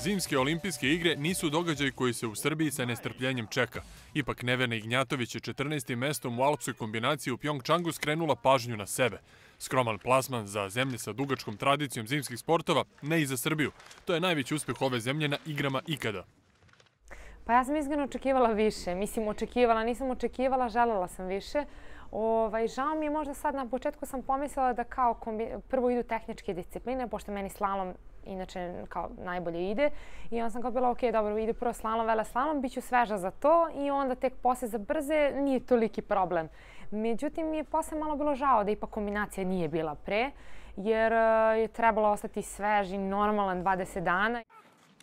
Zimske olimpijske igre nisu događaj koji se u Srbiji sa nestrpljenjem čeka. Ipak Nevena Ignjatović je 14. mestom u alpskoj kombinaciji u Pjongčangu skrenula pažnju na sebe. Skroman plasman za zemlje sa dugačkom tradicijom zimskih sportova, ne i za Srbiju. To je najveći uspeh ove zemlje na igrama ikada. Pa ja sam iskreno očekivala više. Nisam očekivala, želela sam više. Žao mi je možda sad, na početku sam pomislila da kao prvo idu tehničke discipline, pošto meni slalom inače kao najbolje ide. I onda sam kao bila, ok, dobro, ide prvo slalom, veleslalom, bit ću sveža za to i onda tek posle za brze nije toliki problem. Međutim, mi je posle malo bilo žao da ipak kombinacija nije bila pre, jer je trebalo ostati svež i normalan 20 dana.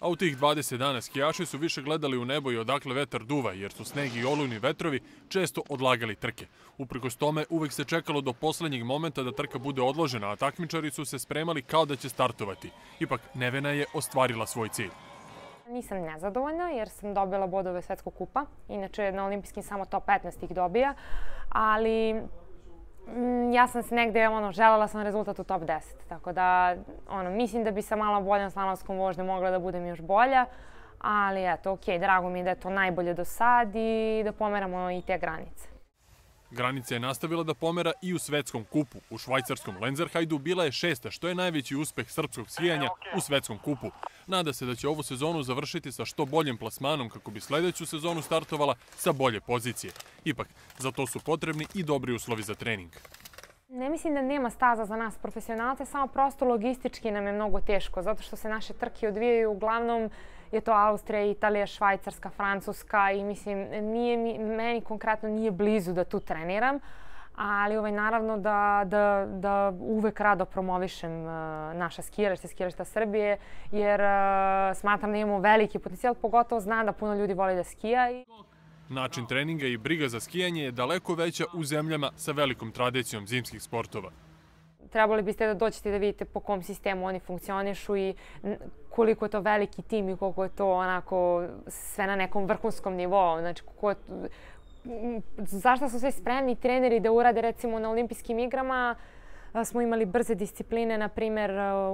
A u tih 20 dana skijaši su više gledali u nebo i odakle vetar duva, jer su sneg i olujni vetrovi često odlagali trke. Uprkos tome, uvek se čekalo do poslednjeg momenta da trka bude odložena, a takmičari su se spremali kao da će startovati. Ipak, Nevena je ostvarila svoj cilj. Nisam nezadovoljna jer sam dobila bodove svetskog kupa. Inače, na olimpijskim samo top 15 ih dobija, ali ja sam se negde, želela sam rezultat u top 10. Tako da, mislim da bi sa malo boljom slalomskom vožnjom mogla da budem još bolja. Ali eto, okej, drago mi je da je to najbolje do sad i da pomeramo i te granice. Granica je nastavila da pomera i u svetskom kupu. U švajcarskom Lenzerhajdu bila je 6. što je najveći uspeh srpskog skijanja u svetskom kupu. Nada se da će ovu sezonu završiti sa što boljim plasmanom kako bi sledeću sezonu startovala sa bolje pozicije. Ipak, za to su potrebni i dobri uslovi za trening. Ne mislim da nema staza za nas profesionalce, samo prosto logistički nam je mnogo teško, zato što se naše trke odvijaju uglavnom je to Austrija, Italija, Švajcarska, Francuska i mislim, meni konkretno nije blizu da tu treniram, ali naravno da uvek rado promovišem naša skijališta Srbije, jer smatram da imamo veliki potencijal, pogotovo znam da puno ljudi voli da skija. Način treninga i briga za skijanje je daleko veća u zemljama sa velikom tradicijom zimskih sportova. Trebali biste da dođete da vidite po kom sistemu oni funkcionišu i koliko je to veliki tim i koliko je to onako sve na nekom vrhunskom nivou. Znači, zašto su sve spremni treneri da urade recimo na olimpijskim igrama? Smo imali brze discipline, na primjer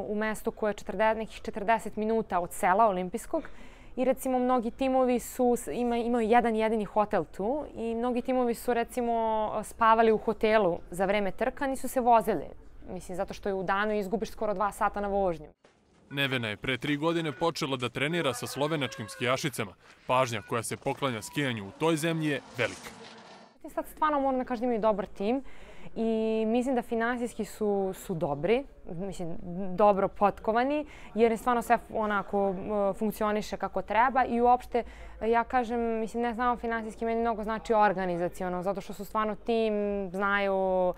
u mestu koje je nekih 40 minuta od sela olimpijskog. I recimo mnogi timovi imaju jedan jedini hotel tu i mnogi timovi su recimo spavali u hotelu za vreme trka, nisu se vozili. Mislim, zato što je u danu izgubiš skoro 2 sata na vožnju. Nevena je pre 3 godine počela da trenira sa slovenačkim skijašicama. Pažnja koja se poklanja skijanju u toj zemlji je velika. Sad stvarno moram da kažem da imaju dobar tim i mislim da finansijski su dobri, mislim, dobro potkovani, jer je stvarno sve onako funkcioniše kako treba i uopšte, ja kažem, mislim, ne samo finansijski, meni mnogo znači organizaciono, zato što su stvarno tim, znaju,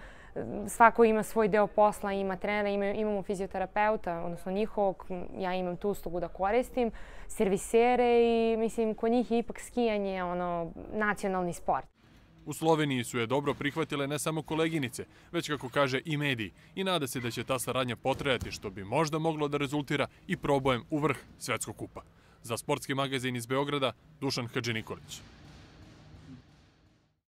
svako ima svoj deo posla, ima trenera, imamo fizioterapeuta, odnosno njihovog, ja imam tu uslugu da koristim, servisere i mislim, kod njih je ipak skijanje nacionalni sport. U Sloveniji su je dobro prihvatile ne samo koleginice, već kako kaže i mediji i nada se da će ta saradnja potrajati što bi možda moglo da rezultira i probojem u vrh svetskog kupa. Za sportski magazin iz Beograda, Dušan Hadžinikolić.